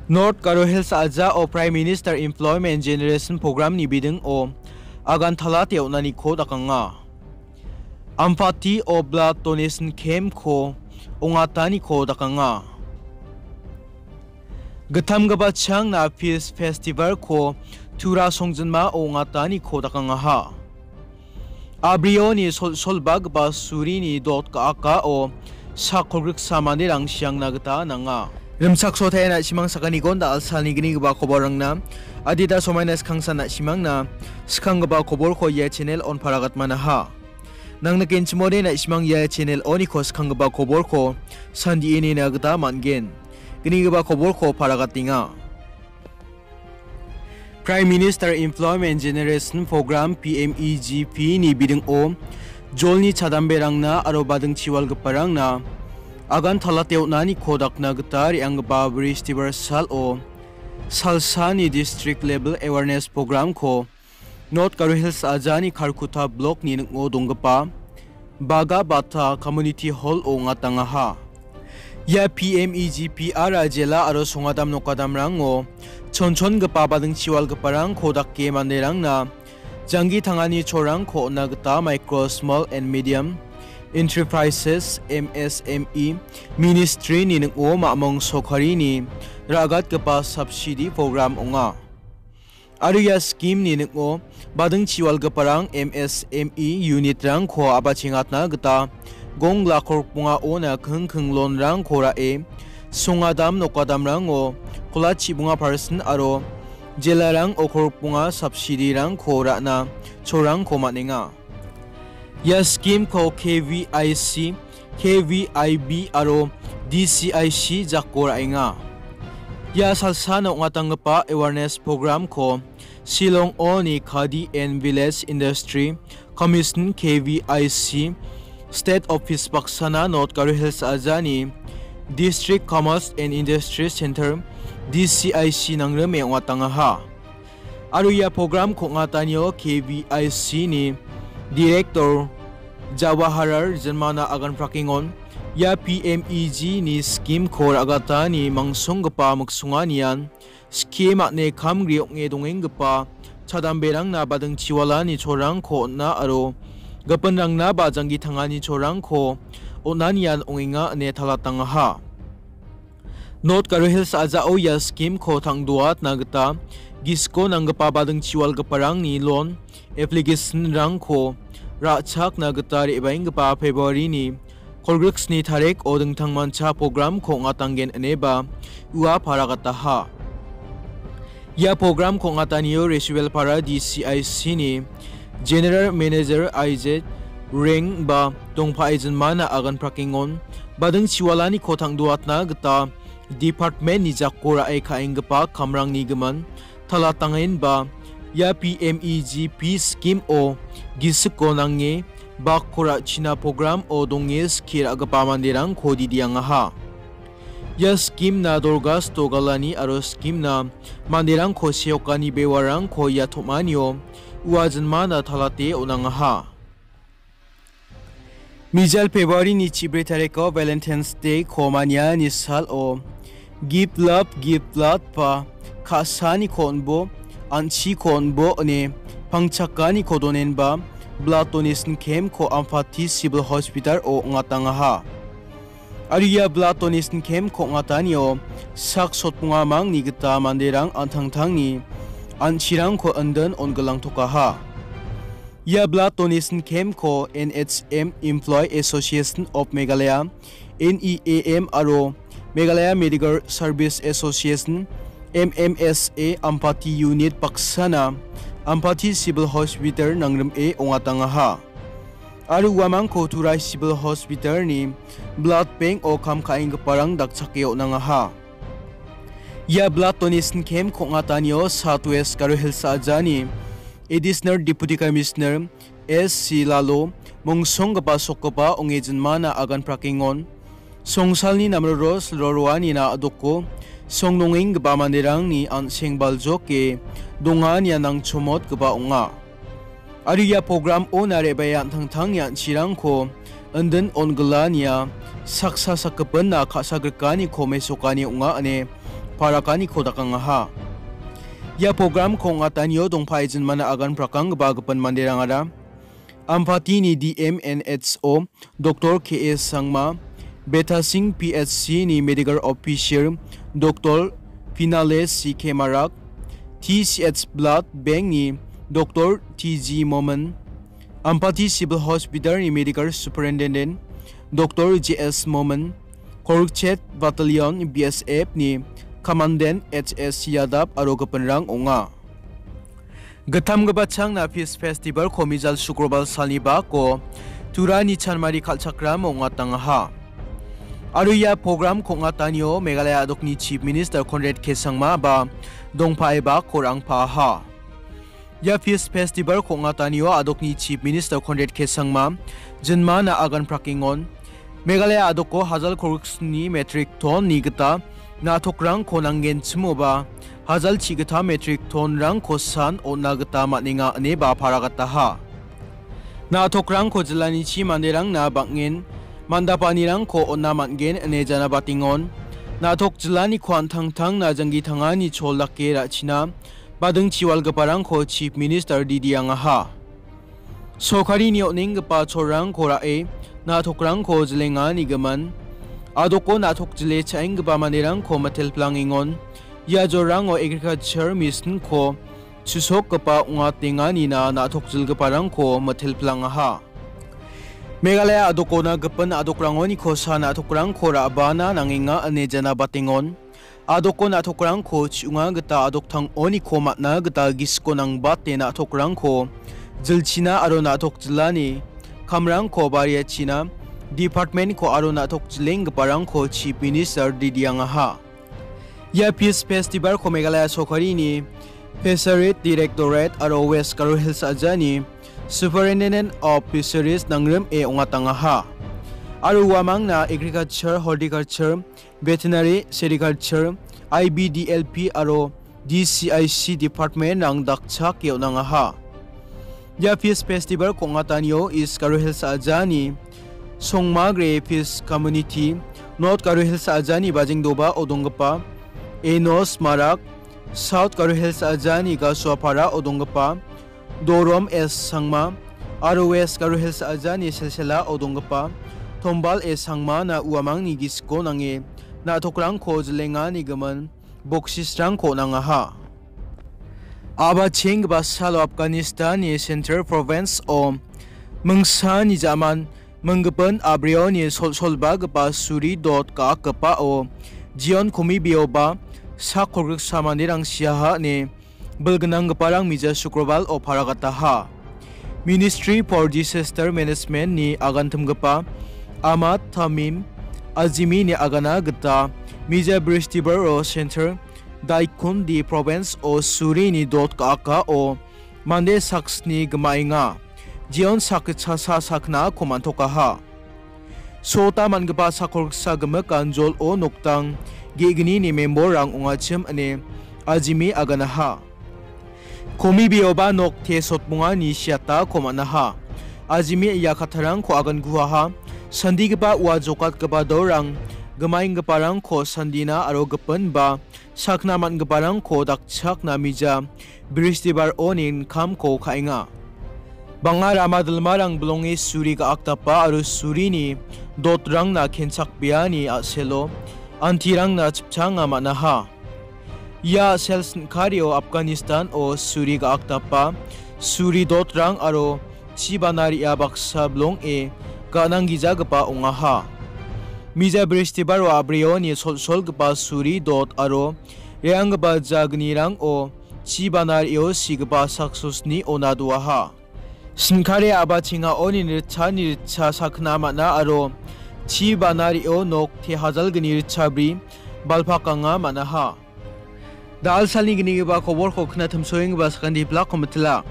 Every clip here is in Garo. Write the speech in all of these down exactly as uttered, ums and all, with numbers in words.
North Garo Hills a·jao Prime Minister Employment Generation Program-ni bidingo agantalate on·aniko dakanga. Ampati o blood donation camp-ko ong·ataniko dakanga. Gittam gipachangna Peace Festival-ko Tura songjinmao ong·ataniko dakangaha. Abrioni sol-, solbagipa surini dot ka·akao sak kolgriksa manderang siangna gita nanga. Rimchaksotaia na·simang sakanigon da·alsalni gnigipa koborrangna adita somaina skangsan na·simangna skanggipa koborko ia channel on paragatmanaha. Nangnikenchimode na·simang ia channel oniko skanggipa koborko sandie nina gita man·gen. Gnigipa koborko paragatenga. Prime Minister Employment Generation Program, P M E G P-ni bidingo jolni chadamberangna aro badingchiwalgiparangna agantalate on·aniko dakna gita re·anggipa Bristibarsalo salsani District Level Awareness Program-ko North Garo Hills a·jani Kharkutta Block-ni ning·o donggipa Baga Bata Community Hall-o ong·atangaha. Ia P M E G P-ara jela aro songadam nokadamrango chonchongipa badingchiwalgiparangko dake manderangna janggi tangani cholrangko on·na gita Micro, Small and Medium Enterprises, M S M E, Ministry-ni ning·o mamung sorkarini ra·gatgipa subsidy program ong·a. Aro ia scheme-ni ning·o badingchiwalgiparang M S M E unit-rangko a·bachengatna gita gong lak kolgrikbongaona kingking loan-rangko ra·e, songadam nokadamrango kola chibonga percent aro jelarango kolgrikbonga subsidy-rangko ra·na cholrangko man·enga. Ia scheme-ko K V I C, K V I B aro D C I C jako ra·enga. Ia salsana ong·atanggipa awareness program-ko Shillong-oni Khadi and Village Industry Commission, K V I C, State Office baksana North Garo Hills a·jani District Commerce and Industry Center, D C I C, nangrime ong·atangaha. Aro ia program-ko ong·atanio K V I C-ni Director Jawaharlal Jinmana aganprakengon, ia P M E G-ni scheme-ko ra·gatani mangsonggipa miksonganian scheme-a·ne kamgri ong·e dongenggipa chadamberangna badingchiwalani cholrangko on·a aro gipinrangnaba janggi tangani cholrangko on·anian ong·enga ine talatangaha. North Garo Hills a·jao ia scheme-ko tang·doatna gita gisiko nanggipa badingchiwalgiparangni loan application-rangko ra·chakna gita re·baenggipa February-ni kolgriksni tariko dingtangmancha program-ko ong·atanggen ineba ua paragataha. Ia program-ko ong·atanio Risuelpara D C I C-ni General Manager Isaac Reng ba dongpae jinmana aganprakengon, badingchiwalaniko tang·doatna gita department-ni jako ra·e ka·enggipa kamrangni gimin talatangenba ia P M E G P scheme-o gisiko nange bakko ra·china program-o donge skie ra·gipa manderangko didiangaha. Ia scheme-na dorgasto galani aro scheme-na manderangko seokani bewarangko ia tom·anio ua jinmana talate on·angaha. Mijal February-ni chibri tariko Valentine's Day-ko maniani salo Give Love, Give Blood ba ka·saniko on·bo, an·chiko on·bo ine pangchakaniko donenba blood donation camp-ko Ampati Civil Hospital-o ong·atangaha. Aro ia blood donation camp-ko ong·atanio sak sotbonga mangni gita manderang an·tangtangni an·chirangko indin on·gilangtokaha. Ia blood donation camp-ko N H M Employee Association of Meghalaya, N E A M, aro Meghalaya Medical Service Association, M M S A, Ampati Unit baksana Ampati Civil Hospital nangrime ong·atangaha. Aro uamangko Turai Civil Hospital-ni blood bank-o kam ka·enggiparang dakchake on·angaha. Ia blood donation camp-ko ong·atanio South West Garo Hills a·jani Additional Deputy Commissioner S C Lalo mongsonggipa sokgipa ong·e jinmana aganprakengon. Songsalni namroro silroroanina a·doko songnongenggipa manderangni an·seng baljoke donganian nangchomotgipa ong·a. Aro ia program-ona re·bae an·tangtangni an·chirangko indin on·gilania saksa sakgipinna ka·sagrikaniko mesokani ong·a ine parakaniko dakangaha. Ia programko ong·atanio dongpae jinmana agan prakanggipa gipin manderangara Ampatini D M N H O Doctor K A Sangma, Betasing P H C ni Medical Officer Doctor Finale C K Marak, T C H Blood Bank ni Doctor T G Momin, Ampati Civil Hospital ni Medical Superintendent Doctor J S Momin, Korukchet Battalion B S F ni Commandant H S Yadav aro gipinrang ong·a. Gittamgipa changna Peace Festival-ko mijal Sukrobar salni bako Turani chanmari kal·chakram ong·atangaha. Aro ia program-ko ong·atanio Meghalaya a·dokni Chief Minister Conrad K Sangma ba dongpae bako rangpaaha. Ia Peace Festival-ko ong·atanio a·dokni Chief Minister Conrad K Sangma jinmana agan prakengon. Meghalaya a·doko hajal kolgriksni metric ton-ni gita na·tokrangko nanggenchimoba, hajal chigita metric ton-rangko san on·na gita man·enga ineba paragataha. Na·tokrangko jilanichi manderangna bang·en mandapanirangko on·na man·gen ine janabatengon. Na·tok jilaniko an·tangtangna janggi tangani chol dake ra·china badingchi walgiparangko Chief Minister didiangaha. Sorkarini on·enggipa cholrangko ra·e na·tokrangko jilenganigimin. A·doko na·tok jile cha·enggipa manderangko mitelplangengon. Ia jorrango agriculture mission-ko chisokgipa ong·atenganina na·tok jilgiparangko mitelplangaha. Meghalaya a·dokona gipin a·dokrangoniko sa na·tokrangko ra·bana nangenga ine janabatengon. A·doko na·tokrangko chi·onga gita a·doktang oniko man·a gita gisiko nangbate na·tokrangko jilchina aro na·tok jilani kamrangko bariachina department-ko aro na·tok jilenggiparangko Chief Minister didiangaha. Ia Peace Festival-ko Meghalaya sorkarini Fisheries Directorate aro West Garo Hills a·jani Superintendent of Fisheries nangrime ong·atangaha. Aro uamangna Agriculture, Horticulture, Veterinary, Sericulture, I B D L P aro D C I C department-rang dakchake on·angaha. Ia Peace Festival-ko ong·atanio East Garo Hills a·jani Songmagre Peace Community, North Garo Hills a·jani Bajengdoba-o donggipa Enos Marak, South Garo Hills a·jani Gasuapara-o donggipa Dorom S Sangma, aro West Garo Hills a·jani Silsila-o donggipa Tombal S Sangmana uamangni gisiko nange na·tokrangko jilenganigimin boksisrangko on·angaha. A·bachenggipa salo Afghanistan-ni Central Province-o mingsani jaman minggipin a·brioni solsolbagipa suri dot ga·akgipao Jion Komibioba sak kolgriksa manderang siaha ine bilgnanggiparang mija Sukrobar-o paragataha. Ministry for Disaster Management-ni agantimgipa Ahmad Tamim Azimi-ni agana gita mija Bristibaro Central Daikundi Province-o surini dot ga·akao mande saksni gimaenga. Jeon sakgitchasa saknako man·tokaha. Sota man·gipa sakolgitsa gimik anjol-o noktang ge·gnini memborrang ong·achim ine Azimi aganaha. Komibioba nok te sotbongani siatako man·aha. Azimi ia kattarangko aganguaha. Sandigipa ua jokatgipa dorang gimaenggiparangko sandina aro gipin ba sakna man·giparangko dakchakna mija Bristibar-oni inkamko ka·enga. Bang·a rama dilmarang bilonge suri ga·akdapa aro surini dotrangna kenchakbeani a·selo antirangna chipchanga man·aha. Ia a·sel sin·kario Afghanistan-o suri ga·akdapa, suri dotrang aro chi bana re·a baksa bilonge ga·nanggijagipa ong·aha. Mija Bristibaro a·brioni solsolgipa suri dot aro re·anggipa jagnirango chi bana re·o sigipa saksosnio nadoaha. Sin·kare a·bachengaoni ritchani ritcha sakna man·a aro chi bana re·o nok te hajalgni ritchabri balpakanga man·aha. Da·al salni gnigipa koborko knatimsoenggipa sakantipilakko mitila.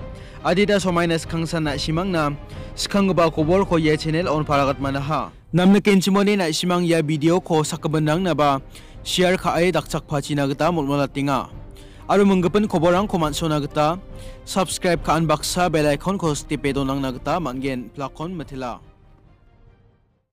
Adita somaina skangsan na·simangna skanggipa koborko ia channel-on paragatmanaha. Namnikenchimode na·simang ia video-ko sakgipinrangnaba share ka·e dakchakpachina gita molmolatenga. Aro minggipin koborrangko man·sona gita subscribe ka·an baksa bell icon-ko stepe donangna gita man·gen. Pilakon mitela.